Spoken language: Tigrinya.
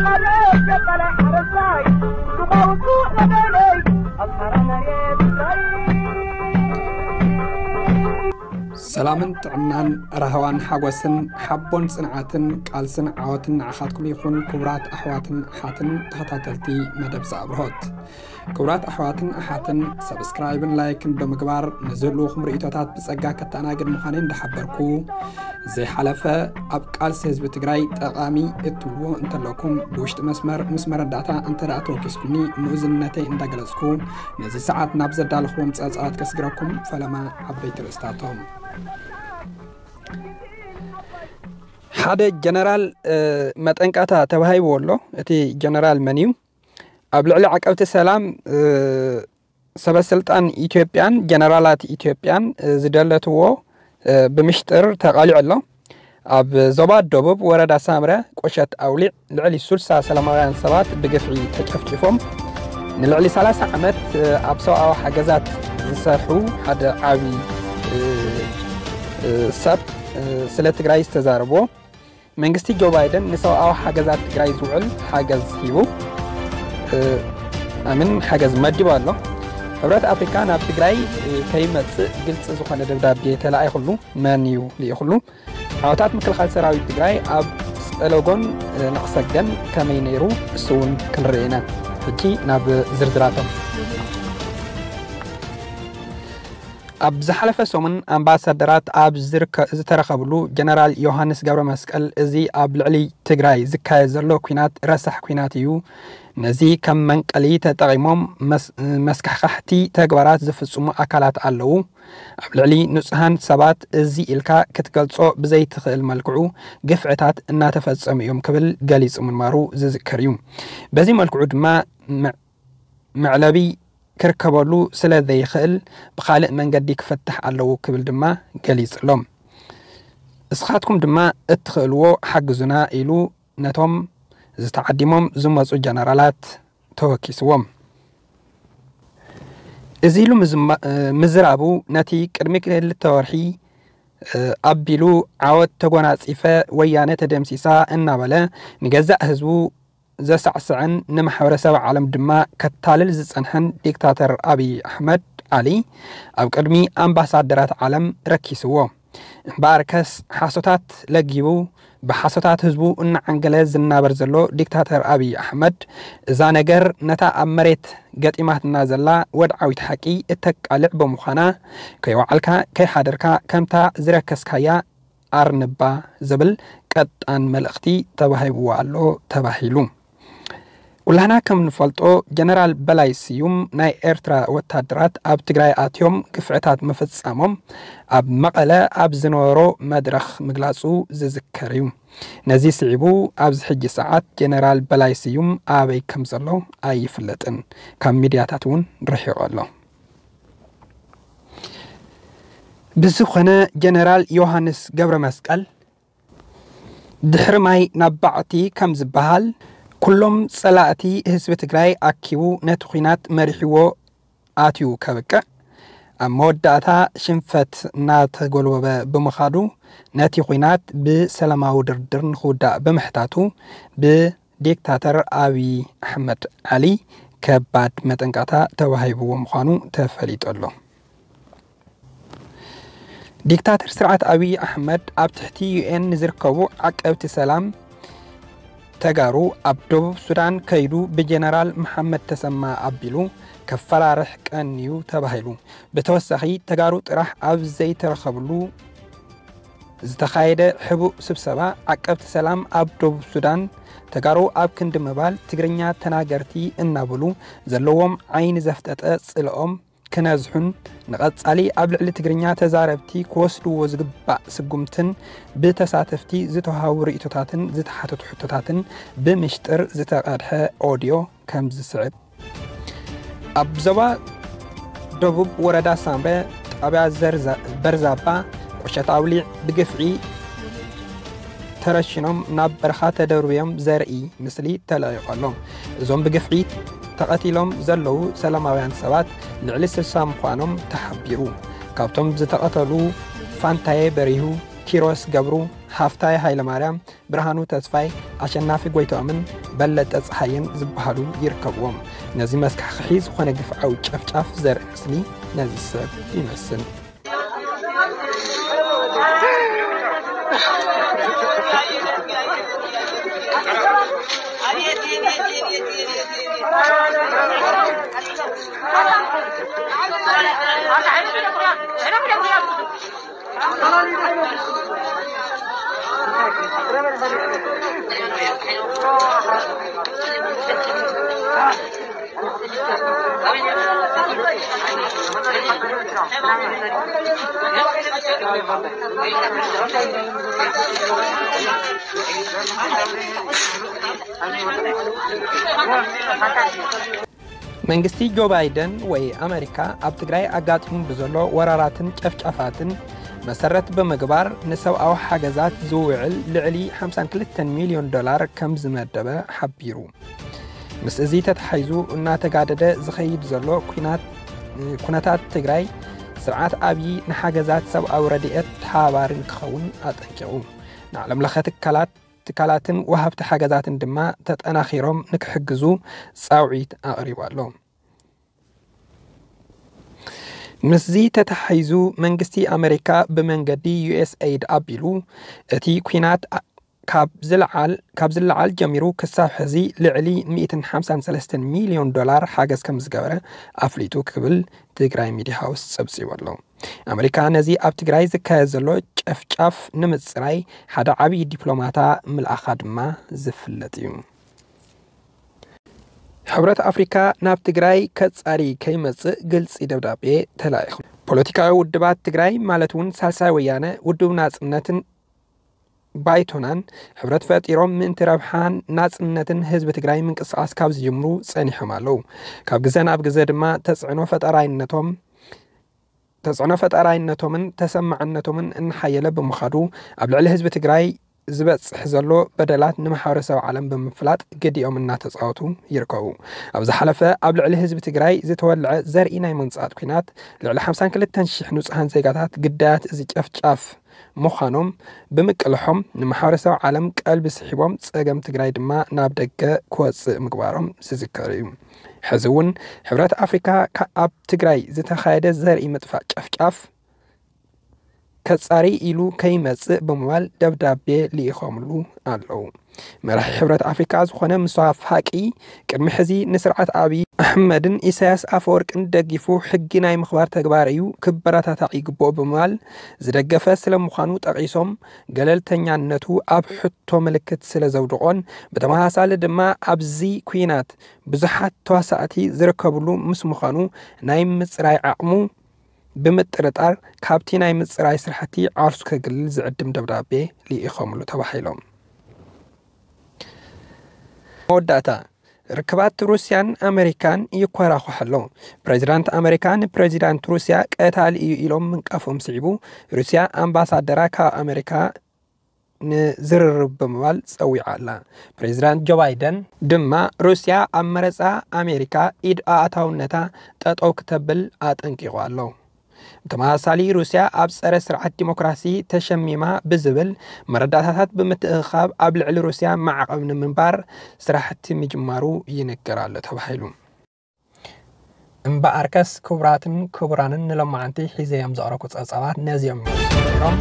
ሓደ ገባላ ሓረስታይ፣ ዱኻውቱ ነበለይ፣ ኣብ ሓራ መሬት ትግራይ። ሰላምን ጥዕናን፣ ራህዋን ሓጎስን፣ ሓቦን ጽንዓትን፣ ቃልስን ዓወትን ንዓኻትኩም ይኹን። ክቡራት ኣሕዋትን ኣሓትን ተኸታተልቲ መደብ ዛብርሆት፣ ክቡራት ኣሕዋትን ኣሓትን፣ ሰብስክራይብን ላይክን ብምግባር ንዝህልውኹም ርእይቶታት ብጸጋ ከተኣናግድ ምዃነይ እንዳሓበርኩ፣ ዘይሓለፈ ኣብ ቃልሲ ህዝቢ ትግራይ ጠቓሚ እትብልዎ እንተለኩም፣ ብውሽጢ መስመር ምስ መረዳእታ እንተ ደኣ ተወኪስኩምኒ ምእዝነተይ እንዳገለጽኩ፣ ነዚ ሰዓት ናብ ዘዳለኽዎም ጸብጻባት ከስግረኩም። ፈለማ ዓበይቲ ርእስታቶም። ሓደ ጀነራል፣ እ፣ መጠንቀቕታ ተባሂብዎ ኣሎ። እቲ ጀነራል መን እዩ? ኣብ ልዕሊ ዓቀብቲ ሰላም፣ እ፣ ሰበስልጣን ኢትዮጵያን ጀነራላት ኢትዮጵያን፣ እ፣ ዝደለትዎ፣ እ፣ ብምሽጥር ተቓሊዑ ኣሎ። ኣብ ዞባ ደቡብ ወረዳ ሳምረ ቁሸት ኣውሊዕ ልዕሊ ስልሳ ሰላማውያን ሰባት ብግፍዒ ተጨፍጪፎም። ንልዕሊ ሰላሳ ዓመት፣ እ፣ ኣብ ሰብኣዊ ሓገዛት ዝሰርሑ ሓደ ዓቢ፣ እ፣ እ፣ ሰብ፣ እ፣ ስለ ትግራይ ዝተዛረብዎ። መንግስቲ ጆ ባይደን ንሰብኣዊ ሓገዛት ትግራይ ዝውዕል ሓገዝ ሂቡ፣ እ፣ ኣምን ሓገዝ መዲቡ ኣሎ። ሕብረት ኣፍሪካ ናብ ትግራይ፣ እ፣ ከይመጽእ ግልፂ ዝኾነ ደብዳቤ ተላኢኹሉ። መን እዩ ልኢኹሉ? ዓወታት ምክልኻል ሰራዊት ትግራይ ኣብ ጸለጎን፣ እ፣ ንቕሰገን ከመይ ነይሩ? እሱ እውን ክንርኢ ኢና። ሕጂ ናብ ዝርዝራቶም። ኣብ ዝሓለፈ ሰሙን ኣምባሳደራት ኣብ ዝርከ-፣ ዝተረኸብሉ ጀነራል ዮሃንስ ገብረ መስቀል፣ እዚ ኣብ ልዕሊ ትግራይ ዝካየድ ዘሎ ኲናት ረሳሕ ኲናት እዩ። ነዚ ከም መንቀሊ ተጠቒሞም መስ-፣ መስካሕካሕቲ ተግባራት ዝፍጽሙ ኣካላት ኣለዉ። ኣብ ልዕሊ ንጹሃን ሰባት እዚ ኢልካ ክትገልጾ ብዘይትኽእል መልክዑ ግፍዕታት እናተፈጸሙ እዮም ክብል ገሊጹ ምንባሩ ዝዝከር እዩ። በዚ መልክዑ ድማ መ-፣ መዕለቢ ክርከበሉ ስለ ዘይኽእል ብኻልእ መንገዲ ክፍታሕ ኣለዎ ክብል ድማ ገሊጹ ኣሎ። እስኻትኩም ድማ እትኽእልዎ ሓግዙና ኢሉ ነቶም ዝተዓዲሞም ዝመጹ ጀነራላት ተወኪስዎም። እዚ ኢሉ ምዝማ-፣ ምዝራቡ ነቲ ቅድሚ ክልተ ወርሒ፣ እ፣ ኣቢሉ ዓወት ተጎናጺፈ፣ ወያነ ተደምሲሳ እናበለ ንገዛእ ህዝቡ ዘሳዕስዐን ንማሕበረሰብ ዓለም ድማ ከታልል ዝጸንሐን ዲክታተር ኣብይ ኣሕመድ ዓሊ ኣብ ቅድሚ ኣምባሳደራት ዓለም ረኪስዎ። እምበኣርከስ ሓሶታት ለጊቡ ብሓሶታት ህዝቡ እናዓንገለ ዝናበር ዘሎ ዲክታተር ኣብይ ኣሕመድ፣ እዛ ነገር ነታ ኣብ መሬት ገጢማትና ዘላ ወድዓዊት ሓቂ እተቃልዕ ብምዃና፣ ከይወዓልካ ከይሓደርካ ከምታ ዝረከስካያ ኣርንባ ዝብል ቀጣን መልእኽቲ ተዋሂብዎ ኣሎ ተባሂሉ። ኩላህና ከም ንፈልጦ፣ ጀነራል በላይ ስዩም ናይ ኤርትራ ወታደራት ኣብ ትግራይ ኣትዮም ግፍዕታት ምፍጻሞም ኣብ መቐለ ኣብ ዝነበሮ መድረኽ ምግላጹ ዝዝከር እዩ። ነዚ ስዒቡ ኣብዚ ሕጂ ሰዓት ጀነራል በላይ ስዩም ኣበይ ከም ዘሎ ኣይፍለጥን፣ ካብ ሚድያታት እውን ርሒቑ ኣሎ። ብዝኾነ ጀነራል ዮሃንስ ገብረ መስቀል ድሕሪ ማይ ናብ ባዕቲ ከም ዝበሃል፣ ኩሎም ጸላእቲ ህዝቢ ትግራይ ኣኪቡ ነቲ ኲናት መሪሕዎ ኣትዩ ከብቅዕ፣ ኣብ መወዳእታ ሽንፈት እናተጎልበበ ብምኻዱ፣ ነቲ ኲናት ብሰላማዊ ድርድር ንኽውዳእ ብምሕታቱ፣ ብዲክታተር ኣብይ ኣሕመድ ዓሊ ከባድ መጠንቀቕታ ተዋሂብዎ ምዃኑ ተፈሊጡ ኣሎ። ዲክታተር ስርዓት ኣብይ ኣሕመድ ኣብ ትሕቲ ዩ ኤን ንዝርከቡ ዓቀብቲ ሰላም ተጋሩ ኣብ ደቡብ ሱዳን ከይዱ ብጀነራል መሓመድ ተሰማ ኣቢሉ ከፈራርሕ ቀንዩ ተባሂሉ። ብተወሳኺ፣ ተጋሩ ጥራሕ ኣብ ዘይተረኸብሉ ዝተኻየደ ሕቡእ ስብሰባ፣ ዓቀብቲ ሰላም ኣብ ደቡብ ሱዳን ተጋሩ ኣብ ክንዲ ምባል፣ ትግርኛ ተናገርቲ እናበሉ ዘለዎም ዓይኒ ዘፍጠጠ ጽልኦም ክነዝሑን ንቐጻሊ ኣብ ልዕሊ ትግርኛ ተዛረብቲ ክወስድዎ ዝግባእ ስጉምትን ብተሳተፍቲ ዝተዋሃቡ ርእይቶታትን ዝተሓተቱ ሕቶታትን ብምሽጥር ዝተቐድሐ ኦድዮ ከም ዝስዕብ። ኣብ ዞባ ደቡብ ወረዳ ሳምረ ጣብያ ዘርዛ-፣ በርዛባ ቁሸት ኣውሊዕ ብግፍዒ ተረሽኖም ናብ በረኻ ተደርብዮም ዘርኢ ምስሊ ተለቒቑ ኣሎ። እዞም ብግፍዒ ተቐቲሎም ዘለዉ ሰላማውያን ሰባት ልዕሊ ስልሳ ምዃኖም ተሓቢሩ። ካብቶም ዝተቐተሉ ፋንታየ በሪሁ፣ ኪሮስ ገብሩ፣ ሃፍታይ ሃይለማርያም፣ ብርሃኑ ተስፋይ፣ ኣሸናፊ ጎይትኦምን በለጠ ፀሃየን ዝበሃሉ ይርከብዎም። ነዚ መስካሕክሒ ዝኾነ ግፍዓዊ ጨፍጫፍ ዘርኢ ምስሊ ነዚ ሰብ ይመስል። መንግስቲ ጆ ባይደን ወይ ኣመሪካ ኣብ ትግራይ ኣጋጢሙ ብዘሎ ወራራትን ጨፍጫፋትን መሰረት ብምግባር ንሰብኣዊ ሓገዛት ዝውዕል ልዕሊ ሓምሳን ክልተን ሚልዮን ዶላር ከም ዝመደበ ሓቢሩ። ምስ እዚ ተተሓሒዙ እናተጋደደ ዝኸይድ ዘሎ ኩናት ኩነታት ትግራይ ስርዓት ኣብዪ ንሓገዛት ሰብኣዊ ረድኤት ተሓባባሪ ንክኸውን ኣጠንቂቑ። ንዓለም ለኸ ትካላት ትካላትን ወሃብቲ ሓገዛትን ድማ ተጠናኺሮም ንክሕግዙ ፃውዒት ኣቕሪቡ ኣሎ። ምስዚ ተተሓሒዙ መንግስቲ ኣመሪካ ብመንገዲ ዩ ኤስ ኤይድ ኣቢሉ እቲ ኩናት ካብ ዝለዓል ካብ ዝለዓል ጀሚሩ ክሳብ ሕዚ ልዕሊ ሚእትን ሓምሳን ሰለስተን ሚልዮን ዶላር ሓገዝ ከም ዝገበረ ኣፍሊጡ ክብል ትግራይ ሚድያ ሃውስ ፀብፂቡ ኣሎ። ኣመሪካ ነዚ ኣብ ትግራይ ዝካየድ ዘሎ ጨፍጫፍ ንምፅራይ ሓደ ዓብዪ ዲፕሎማታ ምልኣኻ ድማ ዝፍለጥ እዩ። ሕብረት ኣፍሪካ ናብ ትግራይ ከፃሪ ከይመፅእ ግልፂ ደብዳቤ ተላኢኹ። ፖለቲካዊ ውድባት ትግራይ ማለት እውን ሳልሳይ ወያነ ውድብ ናፅነትን ባይቶናን ሕብረት ፈጢሮም ምእንቲ ረብሓን ናፅነትን ህዝቢ ትግራይ ምንቅስቃስ ካብ ዝጅምሩ ፀኒሖም ኣለዉ። ካብ ግዘ ናብ ግዘ ድማ ተፅዕኖ ፈጠራይነቶም ተፅዕኖ ፈጠራይነቶምን ተሰማዕነቶምን እናሓየለ ብምኻዱ ኣብ ልዕሊ ህዝቢ ትግራይ ዝበፅሕ ዘሎ በደላት ንማሕበረሰብ ዓለም ብምፍላጥ ግዲኦም እናተፃወቱ ይርከቡ። ኣብ ዝሓለፈ ኣብ ልዕሊ ህዝቢ ትግራይ ዝተወልዐ ዘርኢ ናይ መንፅኣት ኲናት ልዕሊ ሓምሳን ክልተን ሽሕ ንፁሃን ዜጋታት ግዳያት እዚ ጨፍጫፍ ምዃኖም ብምቅልሖም ንማሕበረሰብ ዓለም ቀልቢ ስሒቦም ፀገም ትግራይ ድማ ናብ ደገ ክወፅእ ምግባሮም ዝዝከር እዩ። ሕዚ እውን ሕብረት ኣፍሪካ ካብ ኣብ ትግራይ ዝተኻየደ ዘርኢ ምጥፋእ ጨፍጫፍ ከፃሪ ኢሉ ከይመፅእ ብምባል ደብዳቤ ልኢኾምሉ ኣለዉ። መራሒ ሕብረት ኣፍሪካ ዝኾነ ሙሳ ፋቂ ቅድሚ ሕዚ ንስርዓት ኣብዪ ኣሕመድን ኢሳያስ ኣፈወርቅን ደጊፉ ሕጊ ናይ ምኽባር ተግባር እዩ ክበረታታዕ ይግብኦ ብምባል ዝደገፈ ስለምዃኑ ጠቒሶም ገለልተኛነቱ ኣብ ሕቶ ምልክት ስለ ዘውድቖን ብተመሳሳሊ ድማ ኣብዚ ኩናት ብዙሓት ተዋሳእቲ ዝርከብሉ ምስ ምዃኑ ናይ ምፅራይ ዓቕሙ ብምጥርጣር ካብቲ ናይ ምፅራይ ስራሕቲ ዓርሱ ከግልል ዝዕድም ደብዳቤ ልኢኾምሉ ተባሂሎም። መወዳእታ ርክባት ሩስያን ኣመሪካን ይኮራኹሕ ኣሎ። ፕሬዚዳንት ኣመሪካ ንፕሬዚዳንት ሩስያ ቀታሊ እዩ ኢሎም ምንቃፎም ስዒቡ ሩስያ ኣምባሳደራ ካብ ኣመሪካ ንዝርርብ ብምባል ፀዊዓ ኣላ። ፕሬዚዳንት ጆ ባይደን ድማ ሩስያ ኣብ መረፃ ኣሜሪካ ኢድ ኣእታውነታ ጠጠው ክተብል ኣጠንቂቑ ኣሎ። ብተመሳሳሊ ሩስያ ኣብ ፀረ ስርዓት ዲሞክራሲ ተሸሚማ ብዝብል መረዳእታታት ብምትእኽኻብ ኣብ ልዕሊ ሩስያ ማዕቐብ ንምንባር ስራሕቲ ምጅማሩ ይንገር ኣሎ ተባሂሉ። እምበኣርከስ ክቡራትን ክቡራንን ንሎማዓንቲ ሒዘዮም ዘቕረብኩ ፀብፃባት ነዚኦም እዮም ነይሮም።